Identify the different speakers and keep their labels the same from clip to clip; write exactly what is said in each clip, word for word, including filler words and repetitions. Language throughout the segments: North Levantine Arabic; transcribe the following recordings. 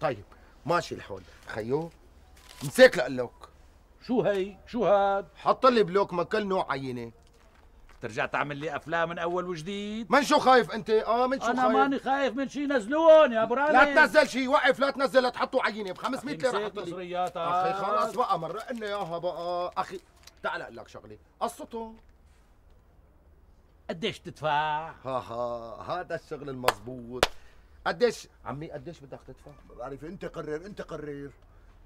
Speaker 1: طيب ماشي الحول خيو، مساك لقلك.
Speaker 2: شو هي؟ شو هاد؟
Speaker 1: حط لي بلوك من كل نوع عينه.
Speaker 2: ترجع تعمل لي افلام من اول وجديد؟
Speaker 1: من شو خايف انت؟ اه من شو
Speaker 2: أنا
Speaker 1: خايف؟
Speaker 2: انا ماني خايف من شي، نزلون يا ابو رامي.
Speaker 1: لا تنزل شي، وقف لا تنزل، لا تحطوا عينه ب خمسمية ليره. حط لي
Speaker 2: مصرياتك
Speaker 1: اخي خلص بقى، مرق لنا اياها بقى اخي. تعال اقول لك شغله، قصته
Speaker 2: قديش تدفع؟
Speaker 1: ها ها هذا الشغل المضبوط. قديش عمي قديش بدك تدفع؟
Speaker 3: ما بعرف، انت قرر انت قرر.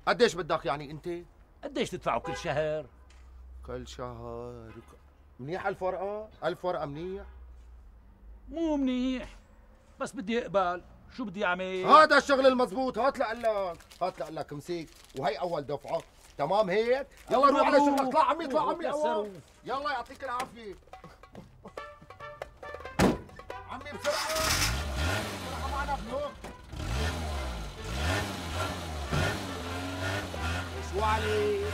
Speaker 1: قديش بدك يعني انت؟
Speaker 2: قديش تدفعوا كل شهر؟
Speaker 1: كل شهر منيح ألف ورقة؟ ألف ورقة منيح؟
Speaker 2: مو منيح، بس بدي اقبل. شو بدي اعمل؟
Speaker 1: هذا الشغل المضبوط. هات لقلك، هات لقلك مسيك، وهي أول دفعة. تمام هيك؟ يلا روح على شغلك. اطلع عمي، اطلع عمي أول. يلا يعطيك العافية عمي. بسرعة بسرعة معنا بلوك. شو عليك؟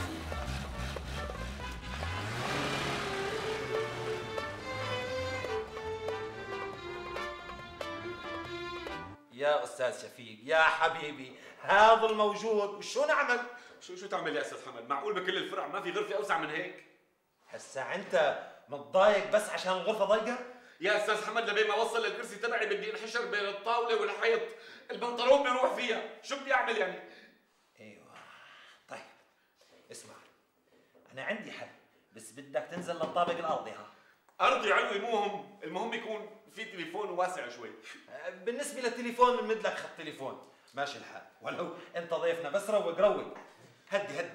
Speaker 4: يا استاذ شفيق يا حبيبي، هذا الموجود وشو نعمل؟
Speaker 5: شو شو تعمل يا استاذ حمد؟ معقول بكل الفرع ما في غرفه اوسع من هيك؟
Speaker 4: هسا انت متضايق بس عشان الغرفه ضيقه؟
Speaker 5: يا استاذ حمد لبين ما اوصل للكرسي تبعي بدي انحشر بين الطاوله والحيط، البنطلون بيروح فيها، شو بدي اعمل يعني؟
Speaker 4: ايوه طيب اسمع، انا عندي حل، بس بدك تنزل للطابق الارضي. ها
Speaker 5: ارضي علوي مو هم، المهم يكون في تليفون واسع شوي.
Speaker 4: بالنسبه للتليفون بنمد لك خط تليفون، ماشي الحال، ولو انت ضيفنا، بس روق روق. هدي هدي.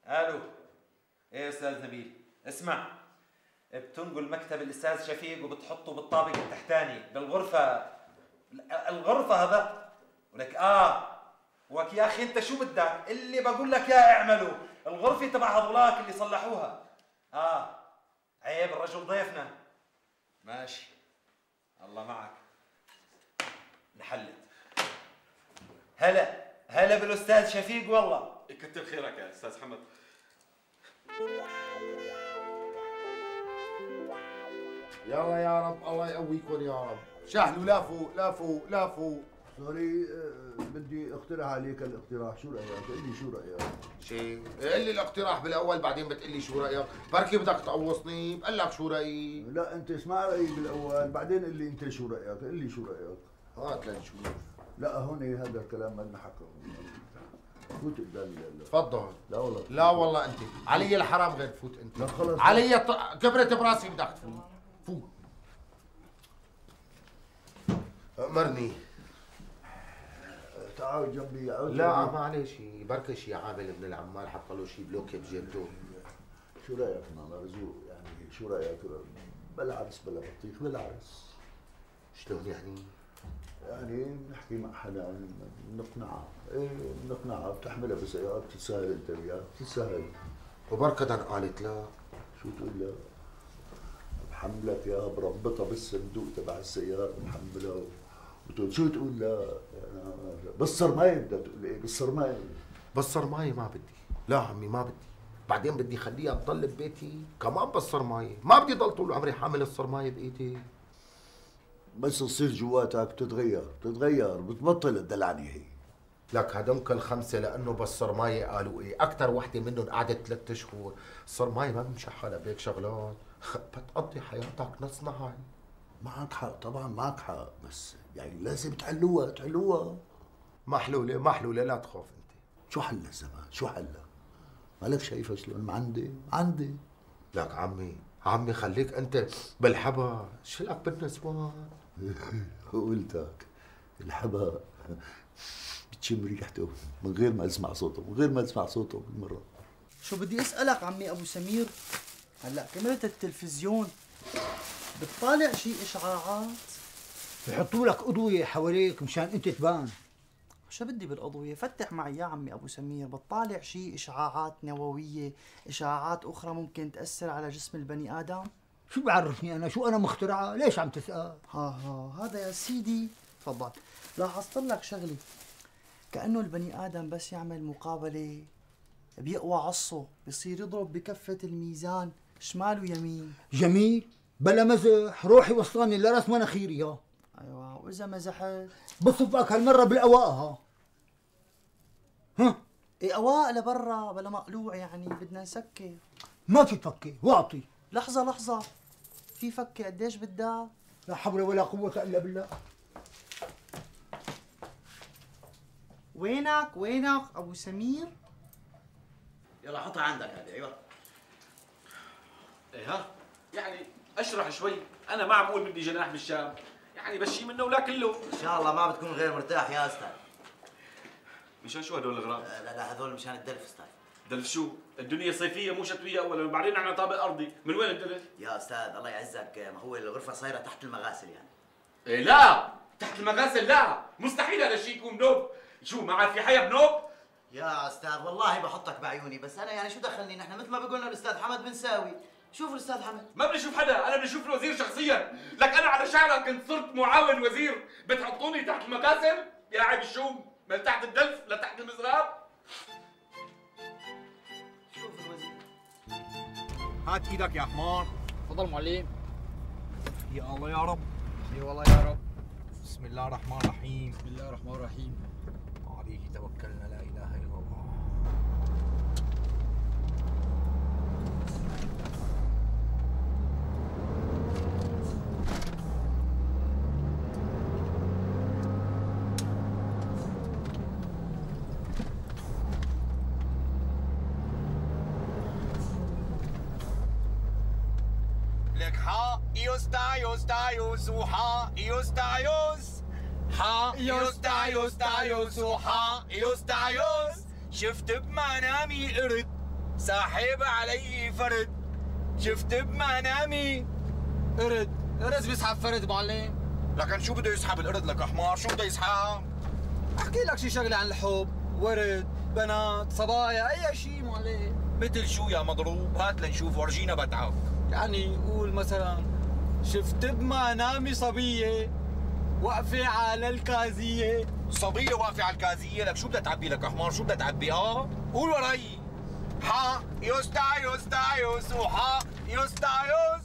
Speaker 4: الو. ايه استاذ نبيل، اسمع، بتنقل مكتب الاستاذ شفيق وبتحطه بالطابق التحتاني بالغرفه، الغرفه هذا. ولك اه وك يا اخي انت شو بدك؟ اللي بقول لك يا اعمله، الغرفه تبع هذولاك اللي صلحوها. اه عيب، الرجل ضيفنا. ماشي الله معك. انحلت. هلا هلا بالاستاذ شفيق والله.
Speaker 5: كتر خيرك يا استاذ حمد.
Speaker 1: يلا يا رب الله يقويكم يا رب. شهلوا لافوا لافوا لافوا.
Speaker 3: سوري، أه بدي اقترح عليك الاقتراح، شو رايك؟ قل لي شو رايك؟
Speaker 1: شيء قل لي الاقتراح بالاول بعدين بتقول لي شو رايك، بركي بدك تقوصني بقول لك شو رايي.
Speaker 3: لا انت اسمع رايي بالاول بعدين قل لي انت شو رايك، قل لي شو رايك.
Speaker 1: هات لنشوف.
Speaker 3: لا هون هذا الكلام ما انحكى. فوت قدام.
Speaker 1: تفضل.
Speaker 3: لا والله
Speaker 1: لا والله انت علي الحرام غير تفوت انت.
Speaker 3: لا خلص
Speaker 1: علي ط... كبرت براسي بدك تفوت. فوت. امرني.
Speaker 3: تعال جنبي. عود
Speaker 1: لا معلش، بركي شي عامل ابن العمال حط له شي بلوك بجيبته.
Speaker 3: شو رايك مرزوق؟ يعني شو رايك؟ بلا عرس بلا بطيخ بلا عرس.
Speaker 1: شلون يعني؟
Speaker 3: يعني بنحكي مع حدا بنقنعها، ايه بنقنعها، بتحملها بسيارة بتتسهل انت وياها، بتتسهل.
Speaker 1: وبركة قالت لا.
Speaker 3: شو تقول لا؟ بحملك يا بربطها بالصندوق تبع السيارة بحملها وتقول شو تقول لا؟ بالصرماية بدها تقول ايه؟ بالصرماية.
Speaker 1: بالصرماية ما بدي، لا عمي ما بدي، بعدين بدي خليها تضل ببيتي كمان بالصرماية، ما بدي ضل طول عمري حامل الصرماية بايدي.
Speaker 3: بس تصير جواتك بتتغير، بتتغير بتبطل تدلعني هي.
Speaker 1: لك هدمك الخمسه لانه بالصرمايه قالوا ايه، اكثر وحده منهم قعدت ثلاث اشهر، الصرمايه ما بمشي حالها بهيك شغلات، بتقضي حياتك نص نهار.
Speaker 3: معك حق طبعا معك حق، بس يعني لازم تحلوها تحلوها.
Speaker 1: محلوله محلوله لا تخاف انت.
Speaker 3: شو حلها الزمان؟ شو حلها؟ مالك شايفها شلون عندي؟ عندي.
Speaker 1: لك عمي عمي خليك انت بالحبا، شلك بالنسوان.
Speaker 3: قلتك الحبا بتشم ريحته من غير ما اسمع صوته، من غير ما اسمع صوته بالمره.
Speaker 6: شو بدي اسالك عمي ابو سمير، هلا كاميرا التلفزيون بتطالع شي اشعاعات؟
Speaker 7: بحطوا لك اضويه حواليك مشان انت تبان.
Speaker 6: شو بدي بالاضويه؟ فتح معي يا عمي ابو سمير، بتطالع شي اشعاعات نوويه، اشعاعات اخرى ممكن تاثر على جسم البني ادم؟
Speaker 7: شو بعرفني انا؟ شو انا مخترعه؟ ليش عم تسال؟
Speaker 6: ها ها هذا يا سيدي تفضل. لاحظت لك شغله، كانه البني ادم بس يعمل مقابله بيقوى عصه، بصير يضرب بكفه الميزان شمال ويمين.
Speaker 7: جميل، بلا مزح، روحي وصلني لراس مناخيري. ها
Speaker 6: ايوه، وإذا مزحت
Speaker 7: بصفك هالمرة بالأواء ها. ها؟
Speaker 6: إيه أواء لبرا بلا مقلوع يعني بدنا نسكر.
Speaker 7: ما في فكة واعطي.
Speaker 6: لحظة لحظة، في فكة قديش بدها؟
Speaker 7: لا حول ولا قوة إلا بالله.
Speaker 6: وينك وينك أبو سمير؟
Speaker 8: يلا حطها عندك هذه. ايوه
Speaker 5: ايه ها يعني اشرح شوي. انا ما عم اقول بدي جناح بالشام، يعني بشي منه ولا كله.
Speaker 8: ان شاء الله ما بتكون غير مرتاح يا استاذ.
Speaker 5: مشان شو هدول الاغراض؟
Speaker 8: لا لا هذول مشان الدلف استاذ.
Speaker 5: دلف شو؟ الدنيا صيفيه مو شتويه اولا، وبعدين احنا طابق ارضي، من وين الدلف؟
Speaker 8: يا استاذ الله يعزك، ما هو الغرفه صايره تحت المغاسل يعني.
Speaker 5: ايه لا تحت المغاسل لا، مستحيل هذا الشيء يكون بنوب. شو ما عاد في حياه بنوب؟
Speaker 8: يا استاذ والله بحطك بعيوني، بس انا يعني شو دخلني، نحن مثل ما بيقولنا الاستاذ حمد بنساوي. شوف الاستاذ حمد.
Speaker 5: ما بدي اشوف حدا، انا بدي اشوف الوزير شخصيا. لك انا على شعرك كنت صرت معاون وزير، بتحطوني تحت المكاسل؟ يا عيب الشوم، من تحت الدلف لتحت المزراب.
Speaker 8: شوف الوزير.
Speaker 9: هات ايدك يا حمار.
Speaker 2: تفضل معلم.
Speaker 9: يا الله يا رب.
Speaker 2: اي والله يا رب.
Speaker 9: بسم الله الرحمن الرحيم.
Speaker 2: بسم الله الرحمن الرحيم.
Speaker 9: عليه توكلنا لا اله الا الله. لك ها يوستايوس تايوس وها يوستايوس ها يوستايوس تايوس وها يوستايوس. شفت بمنامي قرد ساحب علي فرد. شفت بمنامي قرد.
Speaker 2: قرد بيسحب فرد معلم.
Speaker 9: لكن شو بده يسحب القرد لك حمار؟ شو بده يسحب؟
Speaker 2: احكي لك شي شغله عن الحب، ورد، بنات، صبايا، اي شيء معلم.
Speaker 9: مثل شو يا مضروب؟ هات لنشوف ورجينا بدعك.
Speaker 2: يعني قول مثلا شفت بمنامي صبيه واقفه على الكازيه.
Speaker 9: صبية واقفة على الكازية، لك شو بدها تعبي لك حمار؟ شو بدها تعبي؟ اه قول وراي. ها يوستايوس تايوس وها يوستايوس.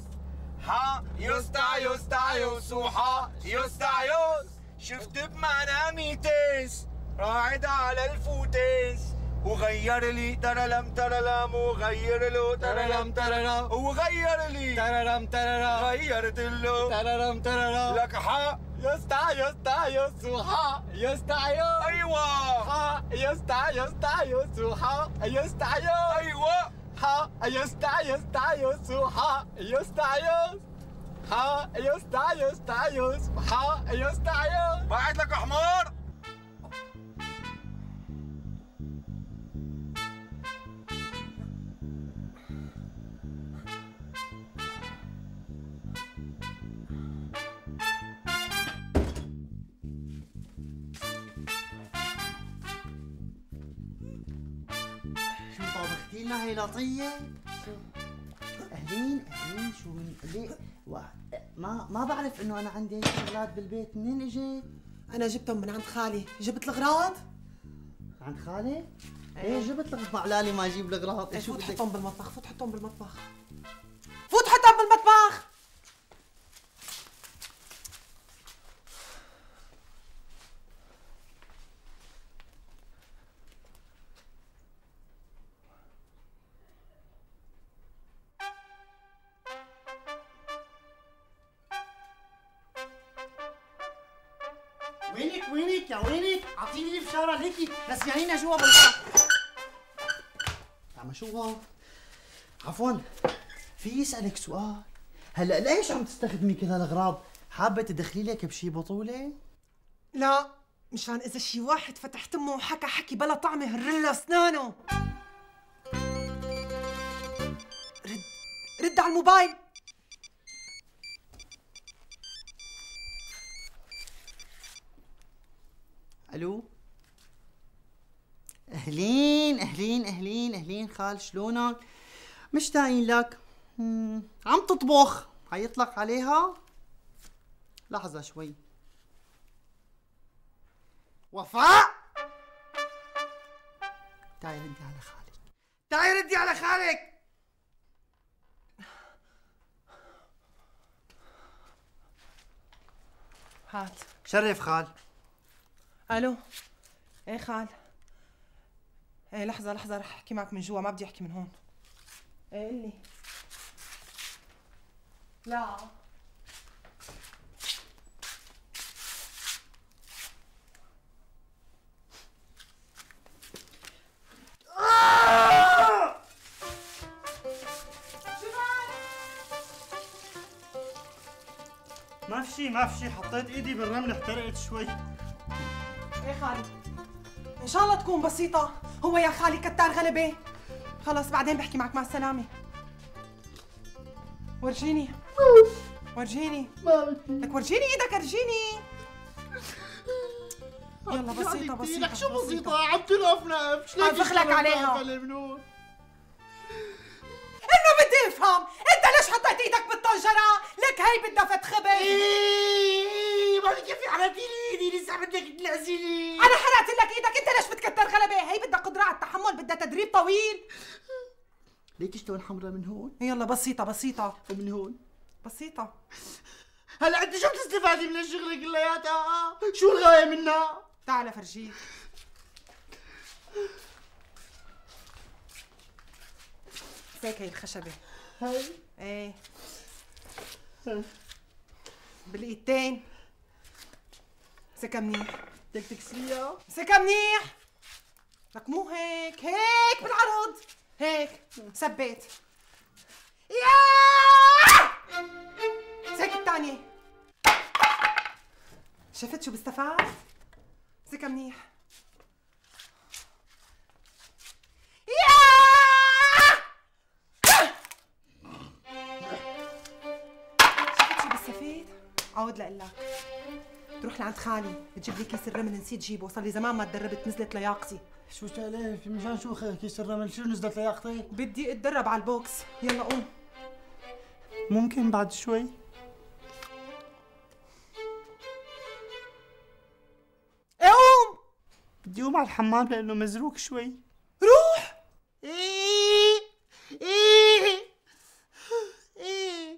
Speaker 9: ها يوستايوس تايوس وها يوستايوس. شفت بمنامي تيس راعد على الفوتيس وغير لي ترلم ترلم وغير له
Speaker 2: ترلم ترلم
Speaker 9: وغير لي
Speaker 2: ترلم ترلم
Speaker 9: غيرت له
Speaker 2: ترلم ترلم.
Speaker 9: لك ها
Speaker 2: يوستايوس تايوس وها يوستايوس.
Speaker 9: ايوه
Speaker 2: ها يوستايوس تايوس وها يوستايوس.
Speaker 9: ايوه
Speaker 2: ها يوستايوس تايوس وها يوستايوس. ها يوستايوس تايوس وها يوستايوس.
Speaker 9: بعت لك حمار.
Speaker 6: شو طابختي لنا هي لطية؟ شو؟ أهلين أهلين شو من ليه؟ و... ما ما بعرف إنه أنا عندي شغلات بالبيت، منين إجيت؟
Speaker 10: أنا جبتهم من عند خالي. جبت الأغراض؟
Speaker 6: عند خالي؟ إيه جبت لك علالي ما أجيب الأغراض.
Speaker 10: إيه
Speaker 6: شو
Speaker 10: فوت
Speaker 6: بدك؟
Speaker 10: حطهم بالمطبخ، فوت حطهم بالمطبخ. فوت حطهم بالمطبخ.
Speaker 6: وينك وينك يا وينك؟ اعطيني لي فشارة هيك نسيانينا جوا بالبيت. عم شو عفوا في يسألك سؤال؟ هلا ليش عم تستخدمي كل هالاغراض؟ حابة تدخلي لك بشي بطولة؟
Speaker 10: لا مشان إذا شي واحد فتح تمه وحكى حكي بلا طعمة هرله أسنانه. رد رد على الموبايل.
Speaker 6: الو اهلين اهلين اهلين اهلين خال شلونك؟ مشتاقين لك. مم. عم تطبخ حيطلق عليها؟ لحظة شوي. وفاء تعي ردي على خالك، تعي ردي على خالك.
Speaker 10: هات.
Speaker 6: شرف خال.
Speaker 10: الو. ايه خال. ايه لحظة لحظة رح احكي معك من جوا، ما بدي احكي من هون. ايه قلي. لا
Speaker 6: ما في شي ما في شي، حطيت ايدي بالرمل احترقت شوي.
Speaker 10: ايه خالي ان شاء الله تكون بسيطة. هو يا خالي كتار غلبة. خلص بعدين بحكي معك، مع السلامة. ورجيني ورجيني لك، ورجيني ايدك، ورجيني. يلا بسيطة بسيطة.
Speaker 6: لك شو بسيطة؟ عم تنقف نقف.
Speaker 10: عم بخلك عليها. انه بدي افهم، انت ليش حطيت ايدك بالطنجرة؟ لك هي بدها فتح خبز.
Speaker 6: ايه ما كيف حرقتي لي ايدي، لسه بدك تلعزيني.
Speaker 10: انا حرقت لك ايدك، انت ليش بتكتر غلبة؟ هي بدها قدرة على التحمل، بدها تدريب طويل.
Speaker 6: ليك اشتغل حمرا من هون؟
Speaker 10: يلا بسيطة بسيطة.
Speaker 6: ومن هون؟
Speaker 10: بسيطة.
Speaker 6: هلا انت شو بتستفادي من الشغل كلياتها؟ شو الغاية منها؟
Speaker 10: تعال فرجيك. هيك هي الخشبة.
Speaker 6: هاي؟
Speaker 10: ايه. بالايدتين. امسكها منيح.
Speaker 6: بدك تكسريها؟
Speaker 10: امسكها منيح. لك مو هيك، هيك بالعرض. هيك. ثبت. ياه! امسك الثانية. شفت شو بستفاد؟ امسكها منيح. ياه! شفت شو بستفيد؟ عود لقلك. تروح لعند خالي تجيب لي كيس الرمل، نسيت جيبه، صار لي زمان ما تدربت، نزلت لياقتي.
Speaker 6: شو تعالي مشان شو كيس الرمل؟ شو نزلت لياقتي؟
Speaker 10: بدي اتدرب على البوكس. يلا قوم.
Speaker 6: ممكن بعد شوي؟
Speaker 10: ايه قوم.
Speaker 6: بدي اقوم على الحمام لانه مزروق شوي.
Speaker 10: روح.
Speaker 6: ايه ايه ايه.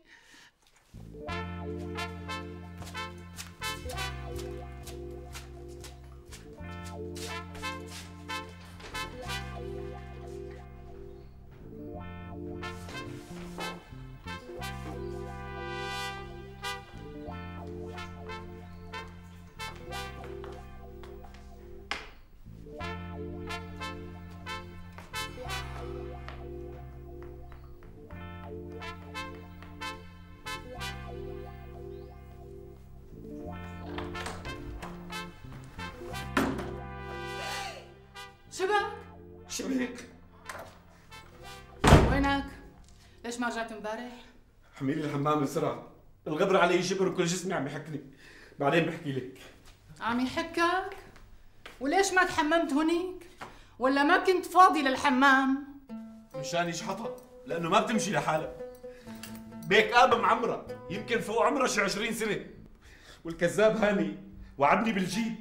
Speaker 11: شبك؟
Speaker 5: شبك؟
Speaker 11: وينك؟ ليش ما رجعت امبارح؟
Speaker 5: حميلي الحمام بسرعة، الغبر علي شبر وكل جسمي عم يحكني، بعدين بحكي لك.
Speaker 11: عم يحكك؟ وليش ما تحممت هونيك؟ ولا ما كنت فاضي للحمام؟
Speaker 5: مشان يشحطها، لأنه ما بتمشي لحالها. بيك آبة معمرة، يمكن فوق عمرها شي عشرين سنة. والكذاب هاني وعدني بالجيب،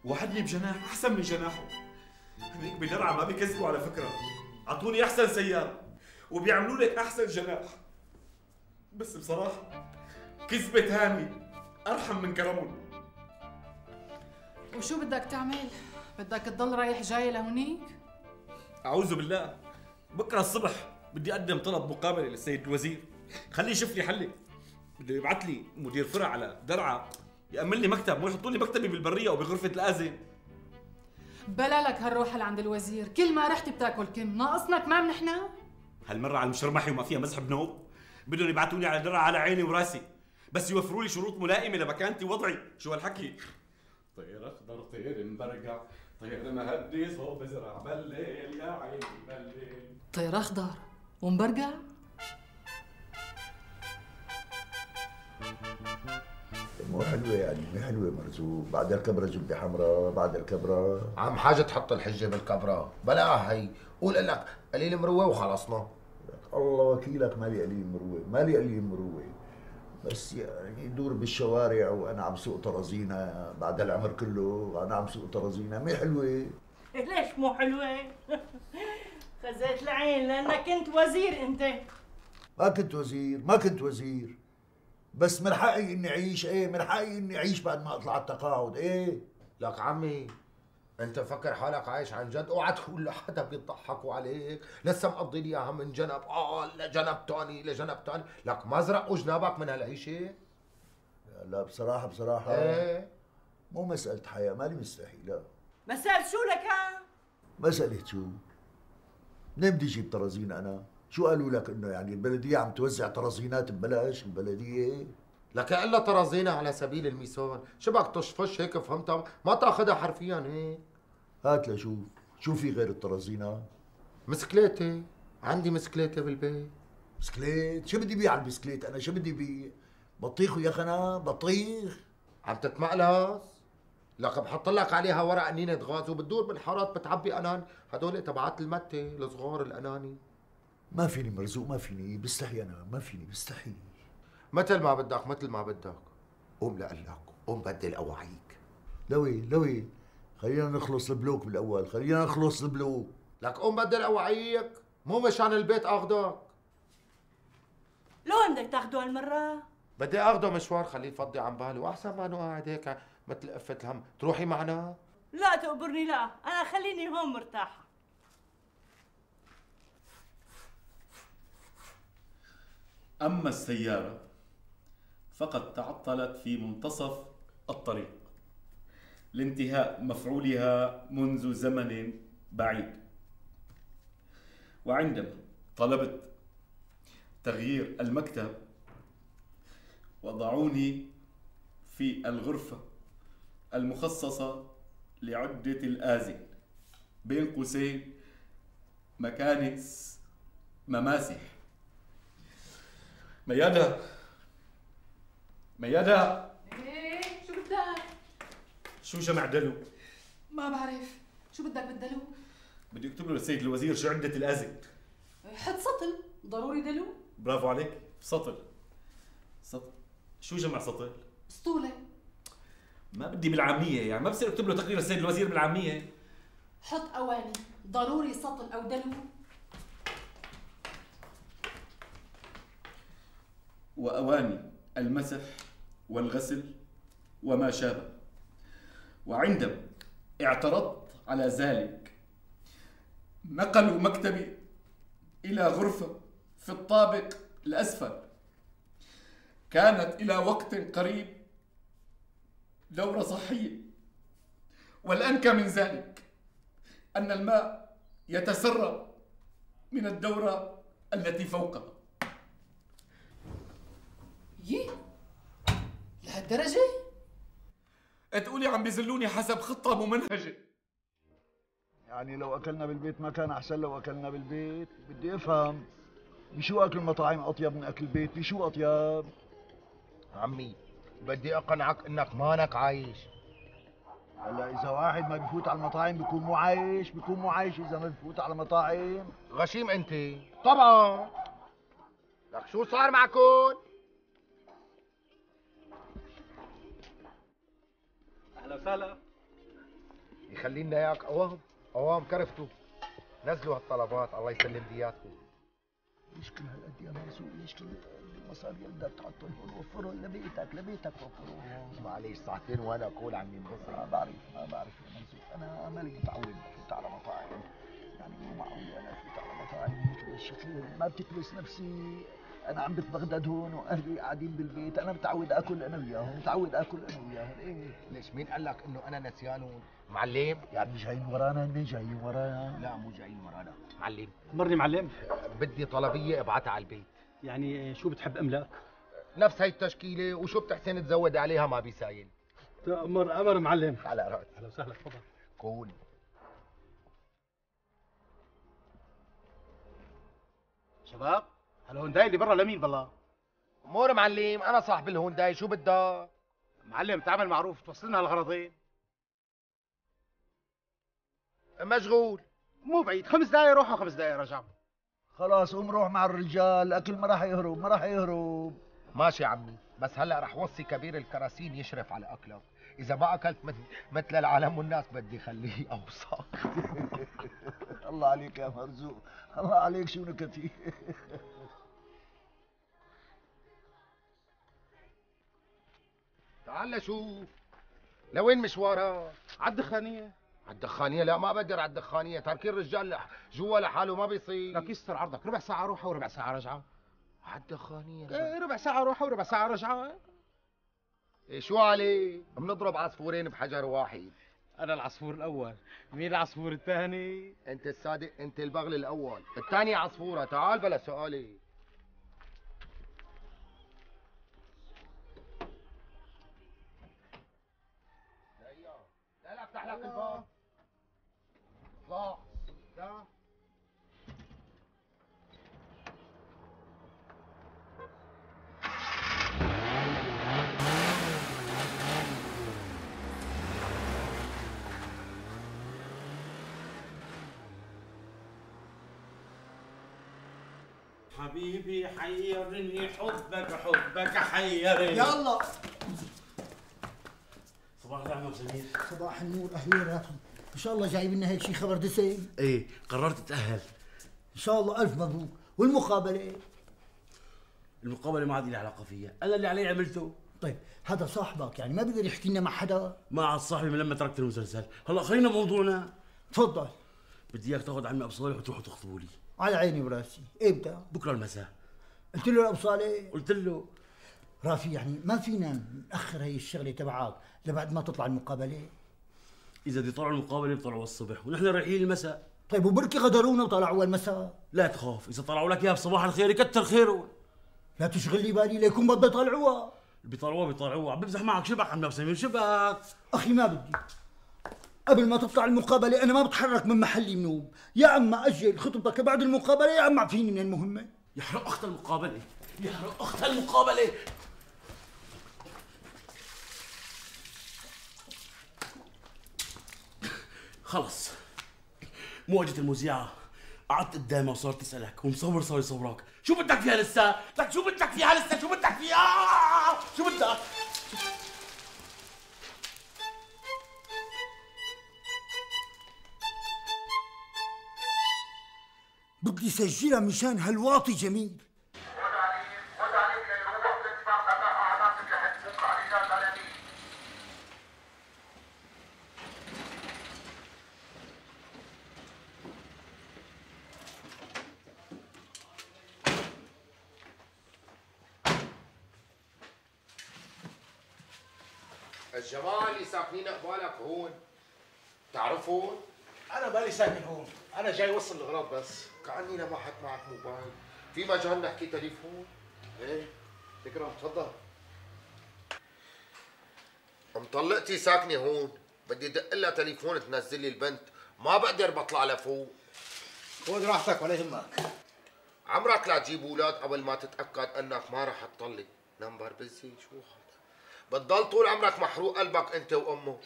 Speaker 5: وعدني بجناح أحسن من جناحه. هنيك بدرعة ما بيكذبوا على فكرة، عطوني أحسن سيارة وبيعملوا لك أحسن جناح. بس بصراحة كذبة هاني أرحم من كرمهم.
Speaker 11: وشو بدك تعمل؟ بدك تضل رايح جاي لهونيك؟
Speaker 5: أعوذ بالله، بكرة الصبح بدي أقدم طلب مقابلة للسيد الوزير، خليه يشوف لي حلي. بده يبعث لي مدير فرع على درعا يأمن لي مكتب، مو يحطوا لي مكتبي بالبرية أو بغرفة الآذن.
Speaker 11: بلا لك هالروحة لعند الوزير، كل ما رحت بتاكل كم، ناقصنا كمان نحنا؟
Speaker 5: هالمرة على المشرمحي وما فيها مزح بنوب، بدهم يبعثوني على درعا على عيني وراسي، بس يوفروا لي شروط ملائمة لمكانتي ووضعي. شو هالحكي؟ طير أخضر طير مبرقع، طير مهدي صوب زرع بالليل يا عيني بالليل.
Speaker 11: طير أخضر ومبرقع؟
Speaker 3: مو حلوة يعني، مو حلوة مرزوق. بعد الكبرة جبة حمراء، بعد الكبرة.
Speaker 1: عم حاجة تحط الحجة بالكبرة، بلاها هي، قول لك قليل مروة وخلصنا.
Speaker 3: الله وكيلك مالي قليل مروة، مالي قليل مروة، بس يعني دور بالشوارع وانا عم سوق طرازينا بعد العمر كله، وانا عم سوق طرازينا، مي حلوة.
Speaker 12: ليش مو حلوة؟ خزيت العين لانك كنت وزير انت.
Speaker 3: ما كنت وزير، ما كنت وزير. بس من حقي اني اعيش، ايه من حقي اني اعيش بعد ما اطلع التقاعد، ايه.
Speaker 1: لك عمي انت فكر حالك عايش عن جد، اوعى تقول لحدا بيضحكوا عليك، لسه مقضي لي اياها من جنب اه لجنب ثاني لجنب ثاني، لك ما زرقوا جنابك من هالعيشه؟
Speaker 3: لا بصراحه بصراحه
Speaker 1: ايه
Speaker 3: مو مساله حياه، مالي مستحي، لا.
Speaker 12: مسألة شو لك ها؟
Speaker 3: مساله شو؟ منين بدي اجيب طرازين انا؟ شو قالوا لك انه يعني البلديه عم توزع طرازينات ببلاش البلديه؟
Speaker 1: لك الا طرازينة على سبيل المثال، شبك تشفش هيك فهمتها؟ ما تاخذها حرفيا هيك.
Speaker 3: هات لشوف، شو في غير الطرازينة؟
Speaker 1: مسكليتي، عندي مسكليتي بالبيت.
Speaker 3: مسكليت؟ شو بدي بيع على البسكليت انا؟ شو بدي بيع؟ بطيخ يا خنا، بطيخ.
Speaker 1: عم تتمقلص؟ لك بحط لك عليها ورق نينة غاز وبتدور بالحارات بتعبي انان، هدول تبعات المتة الصغار الاناني.
Speaker 3: ما فيني مرزوق، ما فيني، بستحي انا، ما فيني بستحي.
Speaker 1: مثل ما بدك مثل ما بدك. قوم لقلك، قوم بدل اواعيك.
Speaker 3: لوين لوين؟ خلينا نخلص البلوك بالاول، خلينا نخلص البلوك.
Speaker 1: لك قوم بدل اواعيك، مو مشان البيت اخذك.
Speaker 12: لوين بدك تاخده هالمرة؟
Speaker 1: بدي اخذه مشوار خليه يفضي عن باله، واحسن ما انه قاعد هيك مثل قفة الهم، تروحي معنا؟
Speaker 12: لا تقبرني لا، أنا خليني هون مرتاحة.
Speaker 5: أما السيارة فقد تعطلت في منتصف الطريق لانتهاء مفعولها منذ زمن بعيد، وعندما طلبت تغيير المكتب وضعوني في الغرفة المخصصة لعدة الآذن بين قوسين مكانس مماسح. ميادة ميادة
Speaker 11: ايه شو بدك؟
Speaker 5: شو جمع دلو؟
Speaker 11: ما بعرف، شو بدك بالدلو؟
Speaker 5: بدي اكتب له للسيد الوزير شو عدة الآذن.
Speaker 11: حط سطل، ضروري دلو.
Speaker 5: برافو عليك، سطل. سطل شو جمع سطل؟
Speaker 11: اسطولة.
Speaker 5: ما بدي بالعامية، يعني ما بصير اكتب له تقرير السيد الوزير بالعامية.
Speaker 11: حط أواني، ضروري سطل أو دلو.
Speaker 5: وأواني المسح والغسل وما شابه. وعندما اعترضت على ذلك نقلوا مكتبي إلى غرفة في الطابق الأسفل. كانت إلى وقت قريب دورة صحية، والأنكى من ذلك أن الماء يتسرب من الدورة التي فوقها.
Speaker 11: يي لهالدرجة؟
Speaker 5: تقولي عم بيزلوني حسب خطة ممنهجة.
Speaker 3: يعني لو اكلنا بالبيت ما كان احسن؟ لو اكلنا بالبيت بدي افهم، بشو اكل المطاعم اطيب من اكل البيت؟ بشو اطيب؟
Speaker 1: عمي بدي اقنعك انك مانك عايش.
Speaker 3: هلا اذا واحد ما بفوت على المطاعم بيكون مو عايش؟ بيكون مو عايش اذا ما بفوت على المطاعم؟
Speaker 1: غشيم انت. طبعا. لك شو صار معكم؟
Speaker 2: اهلا وسهلا.
Speaker 1: يخلينا اياك قوام قوام كرفتوا. نزلوا هالطلبات الله يسلم دياتكم.
Speaker 3: ليش كل هالقد يا مرزوق؟ ليش كل المصاري اللي بدك تحطهم هون وفرهم لبيتك لبيتك وفرهم.
Speaker 1: معليش ساعتين وانا اقول عم ينبسط.
Speaker 3: ما بعرف ما بعرف يا مرزوق، انا مالي متعود افوت على مطاعم، يعني مو معقول انا افوت على مطاعم هيك بالشكل، ما بتكبس نفسي. انا عم بتبغدد هون واهلي قاعدين بالبيت، انا متعود اكل انا وياهم، متعود اكل انا وياهم. ايه
Speaker 1: ليش مين قال لك انه انا نسيانهم؟ معلم
Speaker 3: يعني جايين ورانا؟ هن جايين ورانا؟
Speaker 1: لا مو جايين ورانا. معلم
Speaker 2: مرني معلم.
Speaker 1: بدي طلبيه ابعتها على البيت.
Speaker 2: يعني شو بتحب املاك؟
Speaker 1: نفس هي التشكيله، وشو بتحسن تزود عليها ما بيسايل.
Speaker 2: امر امر معلم.
Speaker 1: على راسي.
Speaker 2: اهلا وسهلا تفضل.
Speaker 1: قول.
Speaker 2: شباب هالهونداي اللي برا لمين بالله؟
Speaker 1: امور معلم، انا صاحب الهونداي، شو بدك؟
Speaker 2: معلم تعمل معروف توصلنا هالغرضين.
Speaker 1: مشغول.
Speaker 2: مو بعيد، خمس دقايق روح وخمس دقايق رجع.
Speaker 3: خلاص قوم روح مع الرجال، الاكل ما راح يهرب ما راح يهرب.
Speaker 1: ماشي يا عمي، بس هلا رح وصي كبير الكراسين يشرف على اكلك، اذا ما اكلت مثل العالم والناس بدي خليه اوسخ.
Speaker 3: الله عليك يا مرزوق، الله عليك شو نكتي.
Speaker 1: تعال شوف لوين مشوارك؟
Speaker 13: عالدخانية.
Speaker 1: عالدخانية؟ لا ما بقدر عالدخانية، تركين الرجال جوا لحاله ما بيصير.
Speaker 13: لك يستر عرضك، ربع ساعة روحة وربع ساعة رجعة.
Speaker 1: عالدخانية؟
Speaker 13: ايه ربع ساعة روحة وربع ساعة رجعة.
Speaker 1: إيه شو عليه؟ بنضرب عصفورين بحجر واحد.
Speaker 13: أنا العصفور الأول، مين العصفور الثاني؟
Speaker 1: أنت الصادق، أنت البغل الأول، الثاني عصفورة، تعال بلا سؤالي. لا لا افتح لك الباب. اطلع. لا
Speaker 5: حبيبي حيرني حبك حبك حيرني.
Speaker 6: يلا
Speaker 14: صباح الخير عم سمير.
Speaker 6: صباح النور، اهلين راكم. ان شاء الله جايب لنا هيك شيء خبر دسم.
Speaker 14: ايه قررت اتأهل.
Speaker 6: ان شاء الله الف مبروك. والمقابله؟
Speaker 14: المقابله ما عاد لي علاقه فيها، انا اللي علي عملته.
Speaker 6: طيب هذا صاحبك يعني ما بيقدر يحكي لنا مع حدا؟
Speaker 14: ما عاد صاحبي من لما تركت المسلسل. هلا خلينا موضوعنا.
Speaker 6: تفضل.
Speaker 14: بدي اياك تاخذ عمي ابو صالح وتروحوا تخطبوا لي.
Speaker 6: على عيني وراسي. امتى؟
Speaker 14: بكره المساء.
Speaker 6: قلت له لابو صالح؟
Speaker 14: قلت له.
Speaker 6: رافي يعني ما فينا ناخر هي الشغله تبعك لبعد ما تطلع المقابله؟
Speaker 14: اذا بدي يطلعوا المقابله بيطلعوا الصبح ونحن رايحين المساء.
Speaker 6: طيب وبركي غدرونا وطلعوا المساء؟
Speaker 14: لا تخاف، اذا طلعوا لك اياها بصباح الخير يكتر خيرهم.
Speaker 6: لا تشغل لي بالي ليكون بده يطلعوها.
Speaker 14: اللي بيطلعوها بيطلعوها، عم بمزح معك. شبك عم سمير شبك.
Speaker 6: اخي ما بدي. قبل ما تطلع المقابله انا ما بتحرك من محلي منوم. يا اما اجل خطبتك بعد المقابله يا اما اعفيني من المهمه.
Speaker 14: يحرق اخت المقابله، يحرق اخت المقابله. خلص مو اجت المذيعه، قعدت قدامها وصارت تسالك ومصور صار يصورك. شو بدك فيها لسه؟ لك شو بدك فيها لسه؟ شو بدك فيها؟ شو بدك؟
Speaker 6: بدي سجلها مشان هالواطي جميل.
Speaker 1: الجماعة اللي ساكنين قبالك هون تعرفون؟
Speaker 13: أنا مالي ساكن هون، أنا جاي وصل الأغراض بس.
Speaker 1: كأني لمحت معك موبايل، في مجال نحكي تليفون؟
Speaker 13: إيه، تكرم تفضل.
Speaker 1: مطلقتي ساكنة هون، بدي دق لها تليفون تنزل لي البنت، ما بقدر بطلع لفوق.
Speaker 13: خذ راحتك ولا يهمك.
Speaker 1: عمرك لا تجيب اولاد قبل ما تتأكد انك ما رح تطلق، نمبر بزي شو هذا؟ بتضل طول عمرك محروق قلبك انت وامه.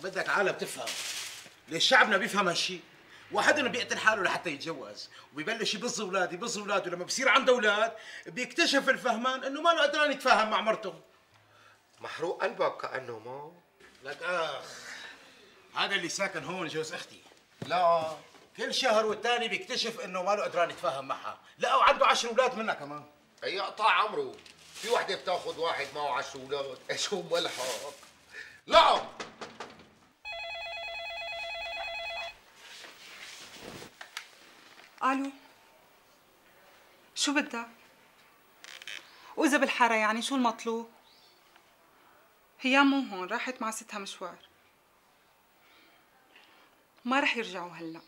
Speaker 13: بدك عالم تفهم ليش شعبنا بيفهم هالشيء. واحدنا بيقتل حاله لحتى يتجوز وبيبلش يبظ اولاد يبظ اولاد، ولما بصير عنده اولاد بيكتشف الفهمان انه ما له قدران يتفاهم مع مرته.
Speaker 1: محروق قلبك كانه ما
Speaker 13: لك اخ، هذا اللي ساكن هون جوز اختي.
Speaker 1: لا
Speaker 13: كل شهر والتاني بيكتشف انه ما له قدران يتفاهم معها، لا وعنده عشر اولاد منها كمان.
Speaker 1: اي قطع عمره، في وحده بتاخذ واحد معه عشر اولاد، ايش هو ملحق؟ لا
Speaker 10: الو، شو بدك؟ وإذا بالحارة يعني شو المطلوب؟ هي مو هون، راحت مع ستها مشوار، ما رح يرجعوا هلا.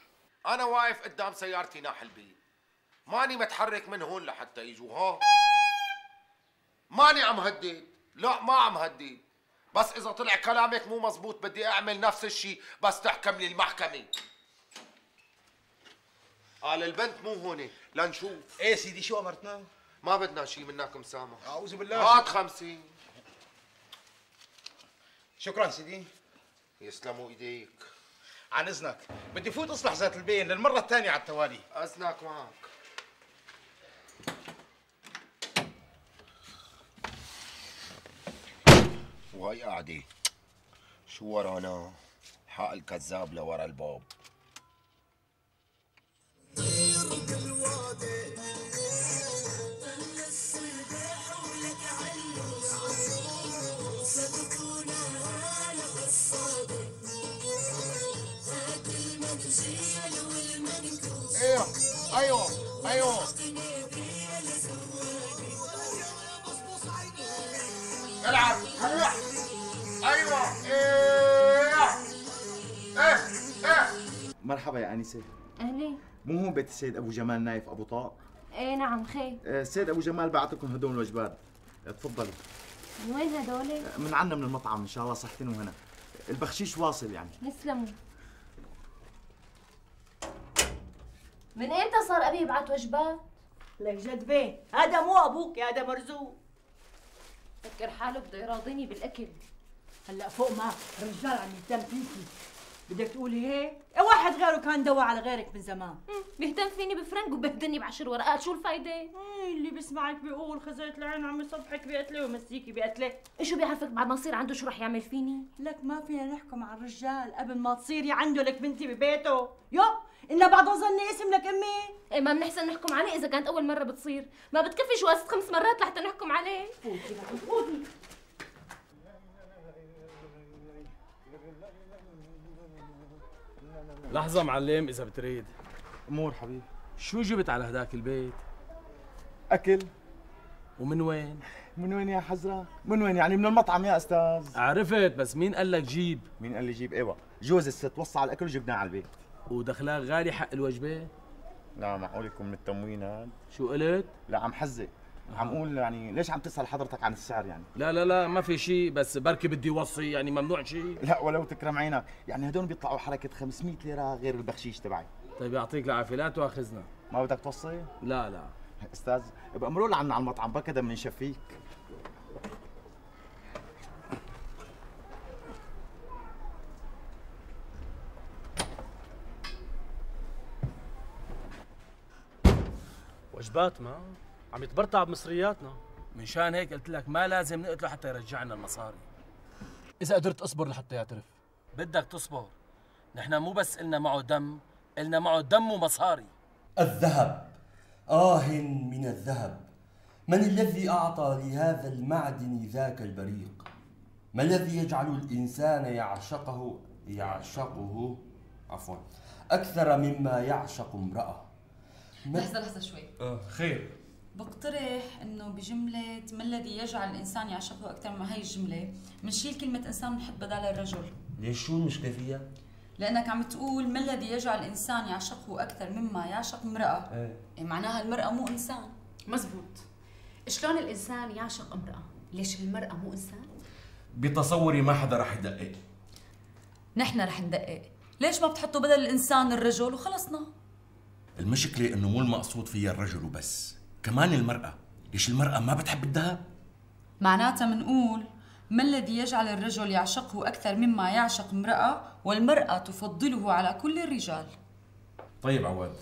Speaker 1: انا واقف قدام سيارتي ناح البيت، ماني متحرك من هون لحتى يجوا. ها ماني عم هدد، لا ما عم هدد، بس اذا طلع كلامك مو مزبوط بدي اعمل نفس الشيء بس تحكم لي المحكمة. قال البنت مو هون لنشوف.
Speaker 13: ايه سيدي شو امرتنا؟
Speaker 1: ما بدنا شيء منك مسامح.
Speaker 13: اعوذ بالله.
Speaker 1: هات خمسين.
Speaker 13: شكرا سيدي.
Speaker 1: يسلموا ايديك.
Speaker 13: عن اذنك بدي فوت اصلح ذات البين للمره الثانيه على التوالي.
Speaker 1: اذنك معك. وهي قاعدة شو ورانا؟ حق الكذاب لورا الباب.
Speaker 9: ايوه ايوه العب هلا ايوه ايه ايه ايه.
Speaker 15: مرحبا يا انسه.
Speaker 16: اهلين.
Speaker 15: مو هون بيت السيد ابو جمال نايف ابو طاق؟
Speaker 16: ايه نعم خير.
Speaker 15: السيد ابو جمال بعتكم هدول الوجبات، تفضلي.
Speaker 16: من وين هدول؟
Speaker 15: من عنا من المطعم ان شاء الله صحتين وهنا. البخشيش واصل يعني.
Speaker 16: يسلموا. من امتى صار ابي يبعت وجبات؟
Speaker 12: لك جد بيه، هذا مو ابوك، هذا مرزوق.
Speaker 16: فكر حاله بده يراضيني بالاكل.
Speaker 12: هلا فوق ما الرجال عم يهتم فيكي، بدك تقولي هيك؟ واحد غيره كان دوا على غيرك من زمان.
Speaker 16: بيهتم فيني بفرنك وبيهدني بعشر ورقات، شو الفايدة؟
Speaker 12: اللي بيسمعك بيقول خزيت العين عم يصبحك بقتله ويمسيكي بقتله.
Speaker 16: شو بيعرفك بعد ما يصير عنده شو رح يعمل فيني؟
Speaker 12: لك ما فينا نحكم على الرجال قبل ما تصيري عنده لك بنتي ببيته، يو إن بعد ظني اسم لك امي.
Speaker 16: ايه ما بنحسن نحكم عليه اذا كانت اول مرة بتصير، ما بتكفي شوازة خمس مرات لحتى نحكم عليه.
Speaker 12: فوتي فوتي.
Speaker 14: لحظة معلم إذا بتريد.
Speaker 15: أمور حبيبي.
Speaker 14: شو جبت على هداك البيت؟
Speaker 15: أكل.
Speaker 14: ومن وين؟
Speaker 15: من وين يا حزرة؟ من وين يعني؟ من المطعم يا أستاذ.
Speaker 14: عرفت، بس مين قال لك جيب؟
Speaker 15: مين قال لي جيب؟ أيوة، جوز الست وصى على الأكل وجبناه على البيت.
Speaker 14: ودخلاك غالي حق الوجبة؟
Speaker 15: لا معقول يكون من التموين هاد؟
Speaker 14: شو قلت؟
Speaker 15: لا عم حزق، عم قول يعني ليش عم تسأل حضرتك عن السعر يعني؟
Speaker 14: لا لا لا ما في شيء، بس بركي بدي وصي يعني ممنوع شيء؟
Speaker 15: لا ولو تكرم عينك، يعني هدول بيطلعوا حركة خمسمية ليرة غير البخشيش تبعي.
Speaker 14: طيب يعطيك العافية، لا تواخذنا.
Speaker 15: ما بدك توصي؟
Speaker 14: لا لا
Speaker 15: استاذ بأمروا لنا عنا على المطعم بكذا بنشفيك.
Speaker 14: وجباتنا عم يتبرطع بمصرياتنا، منشان هيك قلت لك ما لازم نقتله حتى يرجعنا المصاري. إذا قدرت أصبر لحتى يعترف. بدك تصبر، نحن مو بس إلنا معه دم، إلنا معه دم ومصاري.
Speaker 17: الذهب، آه من الذهب، من الذي أعطى لهذا المعدن ذاك البريق؟ ما الذي يجعل الإنسان يعشقه يعشقه عفوا أكثر مما يعشق امرأة؟
Speaker 18: لحظة لحظة شوي.
Speaker 17: آه خير.
Speaker 18: بقترح انه بجملة ما الذي يجعل الانسان يعشقه اكثر من هي الجملة بنشيل كلمة انسان ونحط بدال الرجل.
Speaker 17: ليش شو المشكلة فيها؟
Speaker 18: لانك عم تقول ما الذي يجعل الانسان يعشقه اكثر مما يعشق امرأة.
Speaker 17: ايه
Speaker 18: يعني معناها المرأة مو انسان.
Speaker 11: مزبوط. شلون الانسان يعشق امرأة؟ ليش المرأة مو انسان؟
Speaker 17: بتصوري ما حدا رح يدقق.
Speaker 18: نحن رح ندقق، ليش ما بتحطوا بدل الانسان الرجل وخلصنا؟
Speaker 17: المشكلة انه مو المقصود فيها الرجل وبس، كمان المرأة، ليش المرأة ما بتحب الذهب؟
Speaker 18: معناتها منقول ما الذي يجعل الرجل يعشقه أكثر مما يعشق امرأة والمرأة تفضله على كل الرجال.
Speaker 17: طيب عواد،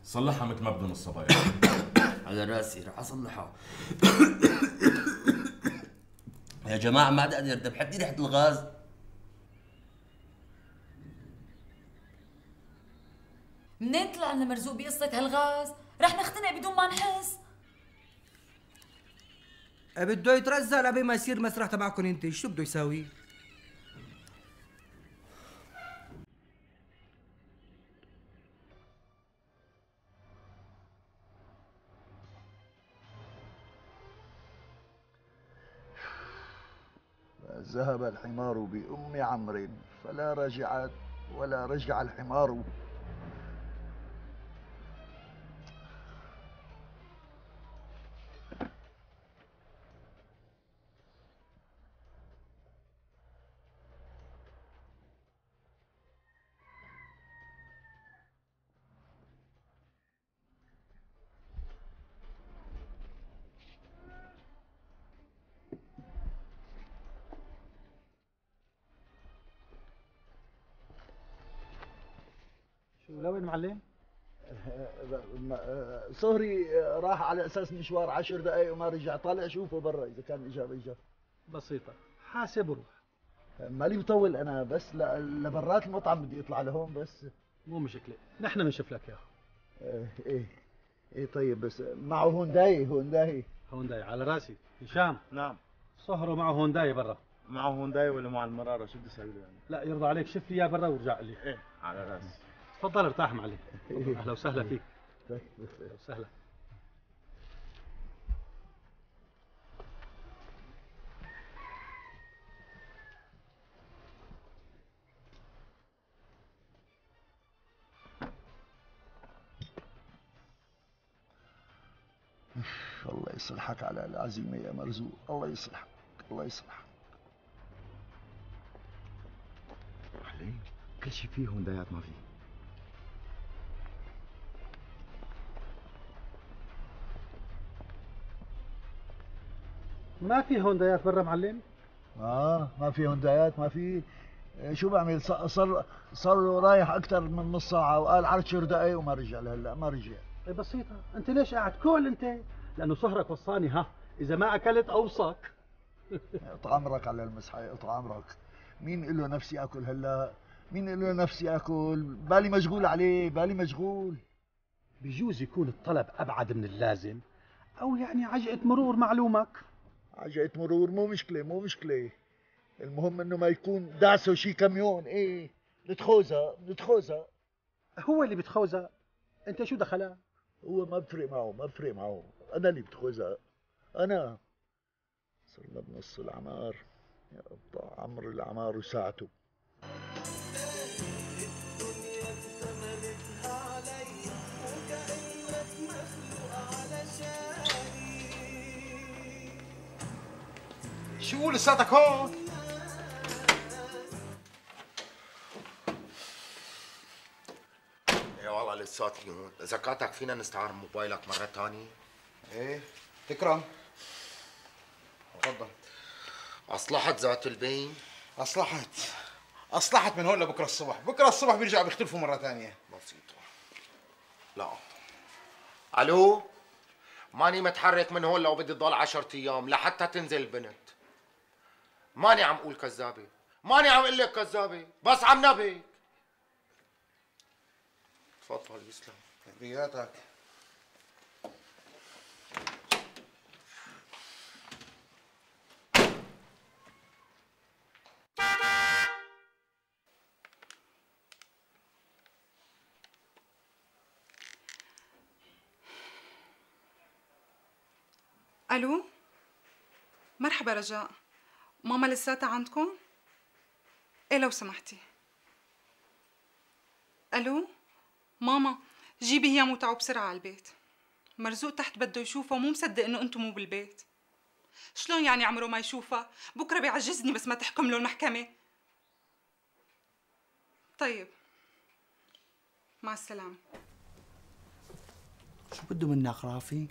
Speaker 17: صلحها مثل ما بدهم الصبايا.
Speaker 14: على راسي رح اصلحها. يا جماعة ما عاد اقدر، ذبحتني ريحة الغاز.
Speaker 18: منين طلع لنا مرزوق بقصة هالغاز؟ رح نختنق بدون ما نحس.
Speaker 2: بده يترزل قبل ما يصير مسرح تبعكم انت، شو بده يساوي؟
Speaker 3: ذهب الحمار بأم عمرو فلا رجعت ولا رجع الحمار.
Speaker 6: لوين معلم؟
Speaker 3: صهري راح على اساس مشوار عشر دقائق وما رجع، طالع شوفه برا اذا كان اجا رجع.
Speaker 6: بسيطة، حاسب وروح.
Speaker 3: مالي مطول انا، بس لبرات المطعم بدي اطلع لهون بس.
Speaker 6: مو مشكلة، نحن بنشوف لك اياه.
Speaker 3: ايه ايه ايه طيب، بس معه هونداي هونداي
Speaker 6: هونداي على راسي. هشام.
Speaker 15: نعم.
Speaker 6: صهره معه هونداي برا.
Speaker 15: معه هونداي ولا مع المرارة شو بدي اسوي له يعني؟
Speaker 6: لا يرضى عليك، شوف لي اياه برا وارجع لي.
Speaker 15: ايه على راسي.
Speaker 6: تفضل ارتاح معلم. اهلا وسهلا فيك.
Speaker 19: سهلا.
Speaker 3: الله يصلحك على العزيمة يا مرزوق، الله يصلحك الله يصلحك.
Speaker 15: علي كل شيء فيه هوندايات ما فيه.
Speaker 19: ما في هوندايات برا معلم؟
Speaker 3: اه ما في هوندايات ما في. شو بعمل؟ صار صار رايح اكثر من نص ساعة وقال عشر دقايق وما رجع لهلا ما رجع.
Speaker 19: ايه بسيطة، انت ليش قاعد كل انت؟ لانه سهرك وصاني ها، اذا ما اكلت اوصك.
Speaker 3: اقطع عمرك على المسحة، اقطع عمرك. مين له نفسي اكل هلا؟ مين له نفسي اكل؟ بالي مشغول عليه، بالي مشغول.
Speaker 19: بجوز يكون الطلب ابعد من اللازم، او يعني عجقة مرور معلومك.
Speaker 3: عجقة مرور مو مشكلة مو مشكلة، المهم انه ما يكون دعسه شي كاميون. ايه بتخوزها بتخوزها.
Speaker 19: هو اللي بتخوزها، انت شو دخلها؟
Speaker 3: هو ما بفرق معه ما بفرق معه، انا اللي بتخوزها انا. صرنا بنص العمار، يا قطع عمر العمار وساعته.
Speaker 13: شو لساتك هون؟
Speaker 1: ايه والله لساتني هون. اذا كاتك فينا نستعار موبايلك مرة ثانية؟
Speaker 13: ايه تكرم. تفضل.
Speaker 1: اصلحت ذات البين؟
Speaker 13: اصلحت اصلحت من هون لبكره الصبح، بكره الصبح بيرجعوا بيختلفوا مرة ثانية.
Speaker 1: بسيطة. لا الو، ماني متحرك من هون لو بدي تضل عشرة ايام لحتى تنزل البنت. ماني عم اقول كذابة، ماني عم اقول لك كذابة، بس عم نبهك. تفضل يسلم.
Speaker 13: تحياتك.
Speaker 20: الو، مرحبا رجاء، ماما لساتها عندكم؟ ايه لو سمحتي. الو ماما، جيبي هي وتعوا بسرعه على البيت. مرزوق تحت بده يشوفها ومو مصدق انه انتم مو بالبيت. شلون يعني عمره ما يشوفها؟ بكره بيعجزني بس ما تحكم له المحكمه. طيب مع السلامه.
Speaker 6: شو بده منك رافي؟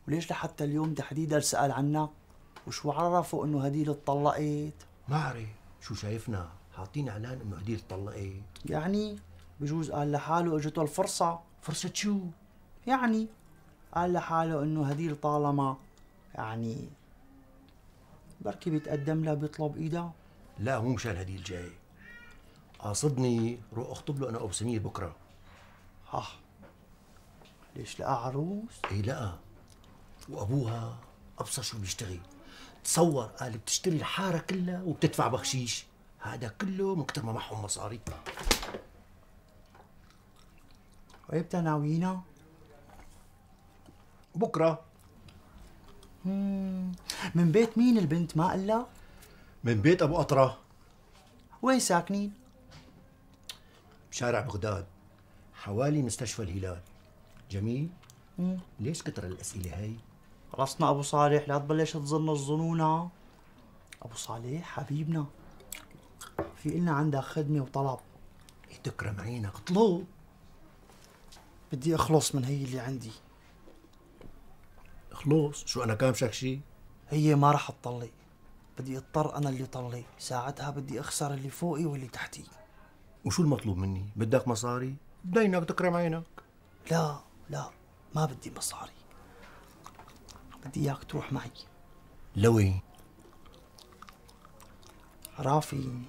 Speaker 6: وليش لحتى اليوم تحديدا سأل عنك؟ وشو عرفوا انه هديل اتطلقت؟
Speaker 17: ما بعرف، شو شايفنا حاطين اعلان انه هديل اتطلقت.
Speaker 6: يعني بجوز قال لحاله اجته الفرصة.
Speaker 17: فرصة شو؟
Speaker 6: يعني قال لحاله انه هديل طالما يعني بركي بيتقدم لها بيطلب ايدها.
Speaker 17: لا مو مشان هديل جاي، قاصدني روح اخطب له انا وابو سمير بكره.
Speaker 6: ها ليش لقى عروس؟
Speaker 17: ايه لقى، وابوها ابصر شو بيشتغل. تصور قال بتشتري الحاره كلها وبتدفع بخشيش، هذا كله من كتر ما معهم مصاري.
Speaker 6: وإمتى ناويينها؟
Speaker 17: بكره.
Speaker 6: مم. من بيت مين البنت ما قال لك؟
Speaker 17: من بيت ابو قطره.
Speaker 6: وين ساكنين؟
Speaker 17: بشارع بغداد حوالي مستشفى الهلال. جميل؟
Speaker 6: مم.
Speaker 17: ليش كتر الاسئله هاي؟
Speaker 6: خلصنا ابو صالح، لا تبلش تظن الظنونه. ابو صالح حبيبنا، في إلنا عندك خدمه وطلب.
Speaker 17: تكرم عينك اطلب.
Speaker 6: بدي اخلص من هي اللي عندي.
Speaker 17: خلص؟ شو انا كامشك شي؟
Speaker 6: هي ما رح تطلق، بدي اضطر انا اللي طلق، ساعتها بدي اخسر اللي فوقي واللي تحتي.
Speaker 17: وشو المطلوب مني؟ بدك مصاري؟ بدينك تكرم عينك.
Speaker 6: لا لا ما بدي مصاري، بدي اياك تروح معي.
Speaker 17: لوين؟
Speaker 6: رافي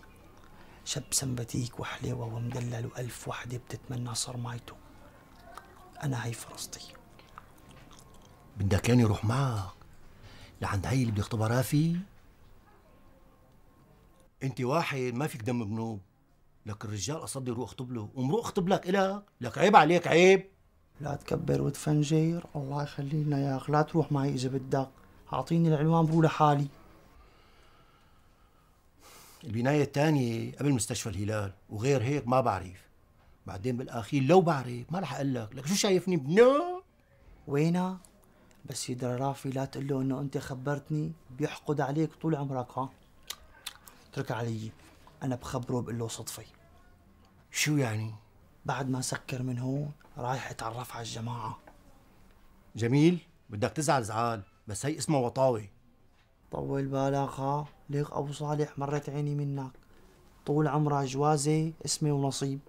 Speaker 6: شاب سمباتيك وحليوه ومدلل وألف وحده بتتمنى صرمايته. انا هي فرصتي.
Speaker 17: بدك يعني روح معك لعند هي اللي بده يخطبها رافي؟ انت واحد ما فيك دم بنوب، لك الرجال قصدي روح اخطب له ومروق اخطب لك الك، لك عيب عليك عيب.
Speaker 6: لا تكبر وتفنجر، الله يخلي لنا اياك، لا تروح معي اذا بدك، اعطيني العنوان بروح لحالي.
Speaker 17: البناية الثانية قبل مستشفى الهلال، وغير هيك ما بعرف. بعدين بالاخير لو بعرف ما رح اقول لك، لك شو شايفني بنو؟
Speaker 6: وينها؟ بس يدرى رافي لا تقول له انه انت خبرتني، بيحقد عليك طول عمرك. ها اترك علي، انا بخبره بقول له صدفه.
Speaker 17: شو يعني؟
Speaker 6: بعد ما سكر من هون رايح اتعرف على الجماعه.
Speaker 17: جميل، بدك تزعل زعال، بس هي اسمها وطاوه.
Speaker 6: طول بالك. ها ليك ابو صالح مرت عيني منك، طول عمرها جوازه اسمه ونصيب،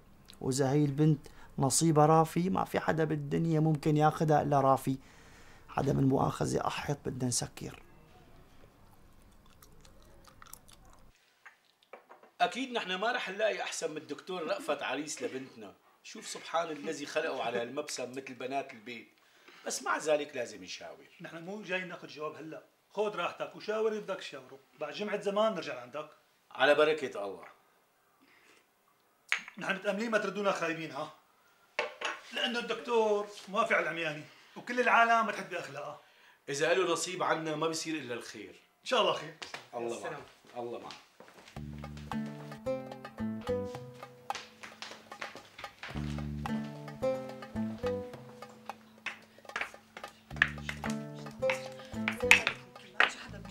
Speaker 6: واذا هي البنت نصيبها رافي ما في حدا بالدنيا ممكن ياخذها الا رافي. عدم المؤاخذه احط بدنا نسكر.
Speaker 5: اكيد نحن ما رح نلاقي احسن من الدكتور رأفت عريس لبنتنا. شوف سبحان الذي خلقه على المبسم مثل بنات البيت، بس مع ذلك لازم نشاور.
Speaker 19: نحن مو جاي ناخذ جواب هلا، خذ راحتك وشاور اللي بدك تشاوره، بعد جمعة زمان نرجع عندك.
Speaker 5: على بركة الله.
Speaker 19: نحن متأملين ما تردونا خايبين. ها لأنه الدكتور موافق على العمياني وكل العالم بتحب بأخلاقها.
Speaker 5: إذا له نصيب عنا ما بصير إلا الخير.
Speaker 19: إن شاء الله خير.
Speaker 5: الله معك. الله معك.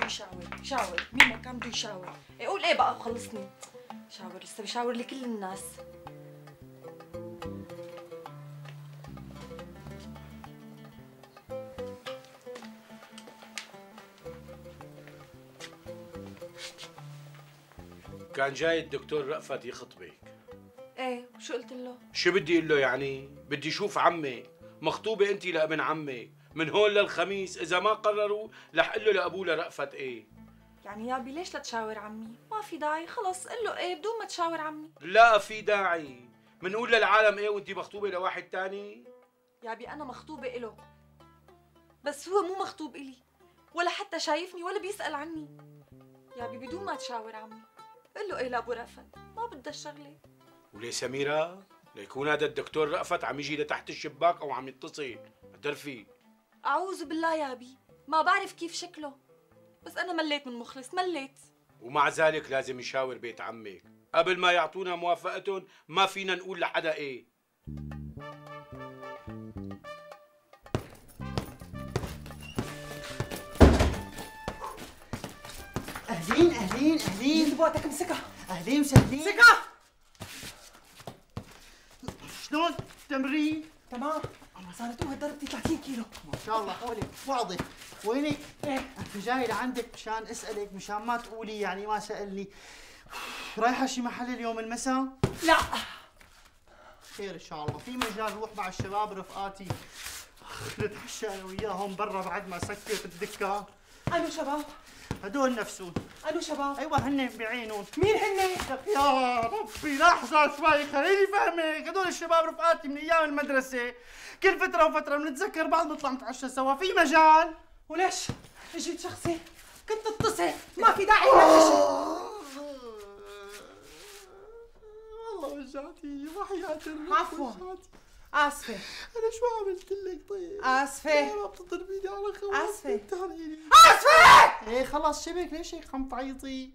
Speaker 21: شاور شاور مين ما كان بده يشاور، قول ايه بقى وخلصني. شاور لسه بشاور لكل الناس.
Speaker 5: كان جاي الدكتور رأفت يخطبك.
Speaker 21: ايه وشو قلت له؟
Speaker 5: شو بدي اقول له يعني؟ بدي اشوف عمي، مخطوبة انت لابن عمي، من هون للخميس اذا ما قرروا رح اقول له لابوه لرأفت ايه.
Speaker 21: يعني يابي ليش لا تشاور عمي؟ ما في داعي، خلص قل له ايه بدون ما تشاور عمي.
Speaker 5: لا في داعي، منقول للعالم ايه وانت مخطوبة لواحد تاني؟
Speaker 21: يابي انا مخطوبة إله، بس هو مو مخطوب إلي، ولا حتى شايفني ولا بيسأل عني. يابي بدون ما تشاور عمي، قل له ايه لابو رأفت، ما بدها الشغلة.
Speaker 5: وليه سميرة؟ ليكون هذا الدكتور رأفت عم يجي لتحت الشباك او عم يتصل، بتعرفي؟
Speaker 21: أعوذ بالله يابي، ما بعرف كيف شكله، بس أنا مليت من مخلص، مليت.
Speaker 5: ومع ذلك لازم نشاور بيت عمك، قبل ما يعطونا موافقتهم ما فينا نقول لحدا ايه.
Speaker 6: اهلين اهلين اهلين،
Speaker 10: بوقتك امسكها.
Speaker 6: اهلين مسهلين.
Speaker 10: امسكها.
Speaker 6: شلون التمرين؟
Speaker 10: تمام، انا صارت قوة ضربتي ثلاثين كيلو.
Speaker 6: ما شاء الله حولك واضح. وينك؟ ايه انا جاي لعندك مشان اسالك، مشان ما تقولي يعني ما سالني. رايحه شي محل اليوم المساء؟
Speaker 10: لا.
Speaker 6: خير ان شاء الله، في مجال روح مع الشباب رفقاتي نتعشى انا وياهم برا بعد ما سكرت الدكان.
Speaker 10: انو شباب؟
Speaker 6: هدول نفسهم.
Speaker 10: انو شباب؟
Speaker 6: ايوه هن بعينهم.
Speaker 10: مين هن؟
Speaker 6: يا ربي لحظة شوي خليني فهمك، هدول الشباب رفقاتي من ايام المدرسة، كل فترة وفترة بنتذكر بعض نطلع نتعشى سوا، في مجال؟
Speaker 10: وليش؟ اجيت شخصي، كنت اتصل، ما في داعي لهالشيء.
Speaker 6: والله وجعتي وحياة الرب.
Speaker 10: عفوا آسفة.
Speaker 6: أنا شو عملت لك طيب؟
Speaker 10: آسفة.
Speaker 6: يا رب تضربيني على خواتي.
Speaker 10: آسفة.
Speaker 6: آسفة! إيه خلص شبك، ليش هيك عم تعيطي؟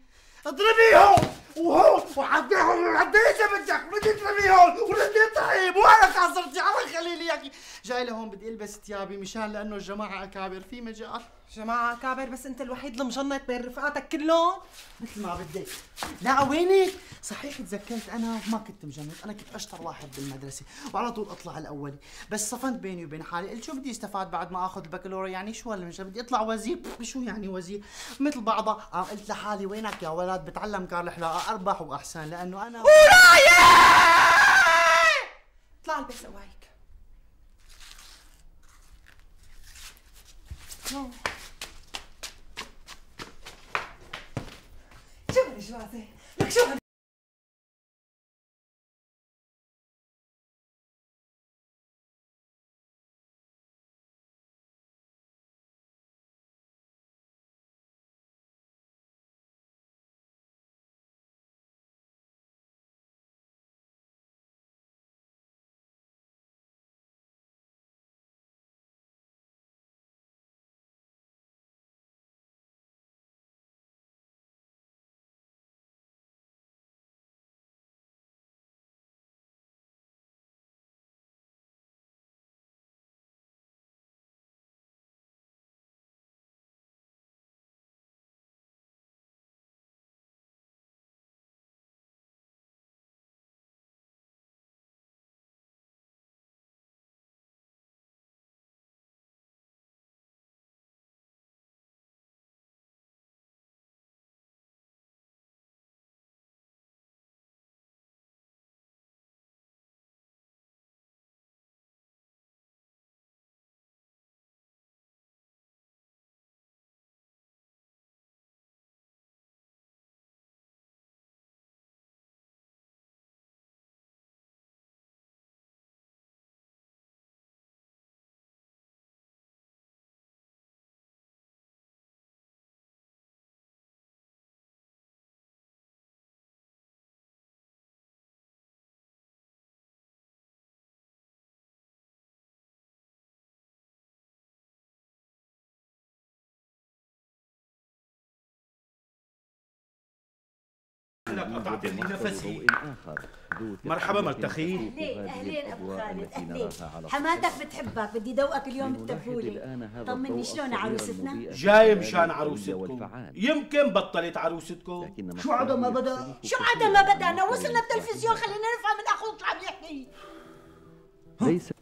Speaker 6: اضربيهم وهون وعديهم وعدي اذا بدك، بدي تضربيهم وردي طيب وانا كسرتي على خليلي اياكي. جاي لهون بدي البس ثيابي مشان لانه الجماعه اكابر، في مجال.
Speaker 10: جماعة أكابر بس أنت الوحيد المجنط بين رفقاتك كلهم؟
Speaker 6: مثل ما بدك. لا وينك؟ صحيح تذكرت أنا ما كنت مجنط، أنا كنت أشطر واحد بالمدرسة وعلى طول أطلع الأولي، بس صفنت بيني وبين حالي، قلت شو بدي استفاد بعد ما آخذ البكالوريا، يعني شو هالمجال، بدي أطلع وزير، شو يعني وزير؟ مثل بعضها، قام قلت لحالي وينك يا ولد بتعلم كار الحلاقة أربح وأحسن لأنه أنا
Speaker 10: ورايا! اطلع البس قوايك. شو هالجوازة؟ لك شو هال
Speaker 5: انك قطعت لي نفسي. مرحبا مرتخي.
Speaker 4: اهلين اهلين ابو خالد اهلين. حماتك بتحبك، بدي دوقك اليوم بالتبولة. طمني شلون عروستنا؟
Speaker 5: جاي مشان عروستكم. يمكن بطلت عروستكم.
Speaker 7: شو عدا ما بدا؟
Speaker 4: شو عدا ما بدأنا؟ وصلنا التلفزيون، خلينا نفهم من اخوك شو عم يحكي.
Speaker 5: ليس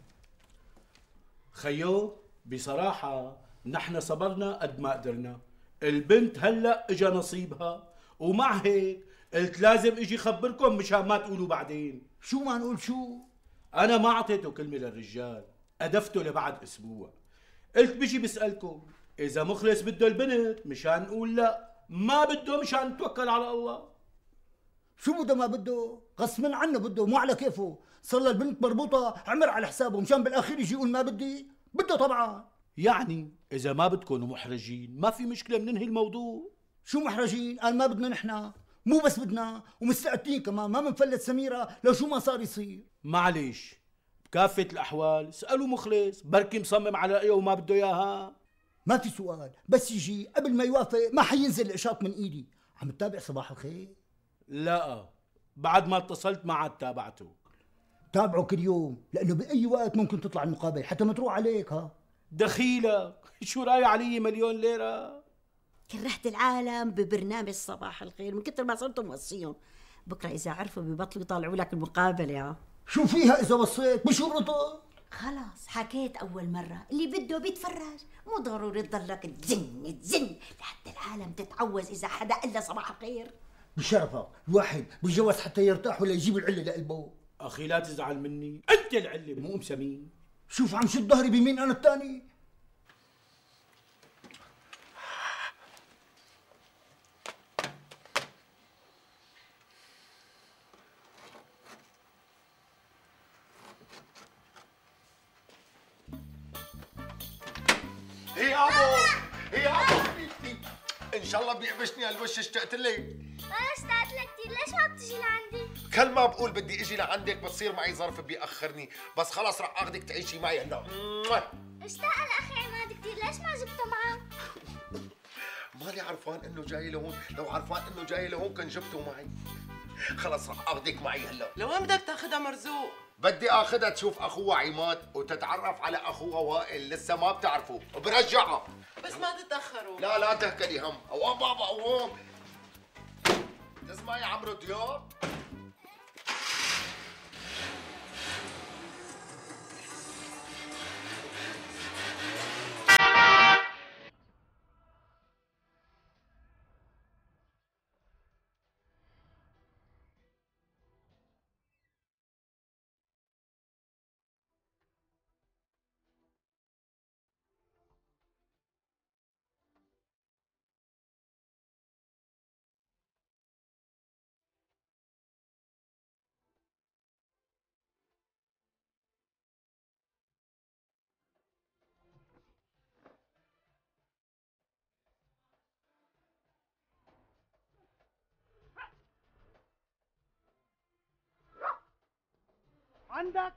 Speaker 5: خيو بصراحة نحن صبرنا قد ما قدرنا. البنت هلا اجا نصيبها، ومع هيك قلت لازم اجي خبركم مشان ما تقولوا بعدين.
Speaker 7: شو ما نقول شو؟
Speaker 5: انا ما اعطيته كلمة للرجال، ادفته لبعد اسبوع. قلت بيجي بسألكم اذا مخلص بده البنت مشان نقول لا، ما بده مشان نتوكل على الله.
Speaker 7: شو بده ما بده؟ غصبا عنه بده، مو على كيفه. صار البنت مربوطة عمر على حسابه مشان بالاخير يجي يقول ما بدي. بده طبعا.
Speaker 5: يعني اذا ما بدكم محرجين ما في مشكلة بننهي الموضوع.
Speaker 7: شو محرجين؟ قال ما بدنا نحن، مو بس بدنا ومستعدين كمان، ما بنفلت سميرة لو شو ما صار يصير.
Speaker 5: معليش بكافة الأحوال اسألوا مخلص، بركي مصمم على إيه وما بده إياها.
Speaker 7: ما في سؤال، بس يجي قبل ما يوافق ما حينزل الإشاط من إيدي. عم تتابع صباح الخير؟
Speaker 5: لا بعد ما اتصلت ما عاد تابعته.
Speaker 7: تابعه كل يوم لأنه بأي وقت ممكن تطلع المقابلة حتى ما تروح عليك. ها
Speaker 5: دخيلك شو راي علي مليون ليرة؟
Speaker 4: كرهت العالم ببرنامج صباح الخير من كتر ما صرت موصيهم. بكره اذا عرفوا ببطلوا يطالعوا لك المقابله. ها
Speaker 7: شو فيها اذا وصيت؟ بشو رضا؟
Speaker 4: خلاص حكيت اول مره، اللي بده بيتفرج، مو ضروري تضلك تزن تزن لحتى العالم تتعوز اذا حدا الا صباح الخير.
Speaker 7: بشرفك الواحد بيتجوز حتى يرتاح ولا يجيب العله لقلبه.
Speaker 5: اخي لا تزعل مني، انت العله مو ام سمين.
Speaker 7: شوف عم شد ظهري بمين انا الثاني.
Speaker 1: هي ابو هي ابو حبيبتي، ان شاء الله بيعبشني هالوش. اشتقت لك.
Speaker 22: انا اشتقت لك كثير، ليش ما بتجي لعندي؟
Speaker 1: كل ما بقول بدي اجي لعندك بتصير معي ظرف بيأخرني، بس خلص رح اخذك تعيشي معي هلا.
Speaker 22: اشتاق لاخي عماد كثير، ليش ما جبته معه؟
Speaker 1: مالي عرفان انه جاي لهون، لو عرفان انه جاي لهون كان جبته معي. خلص رح اخذك معي هلا.
Speaker 10: لوين بدك تاخذها مرزوق؟
Speaker 1: بدي اخذها تشوف اخوها عماد وتتعرف على اخوها وائل، لسه ما بتعرفوا، وبرجعها.
Speaker 10: بس ما تتاخروا.
Speaker 1: لا لا تهكلي هم. اوام بابا اوام. تسمعي عمرو دياب؟
Speaker 6: عندك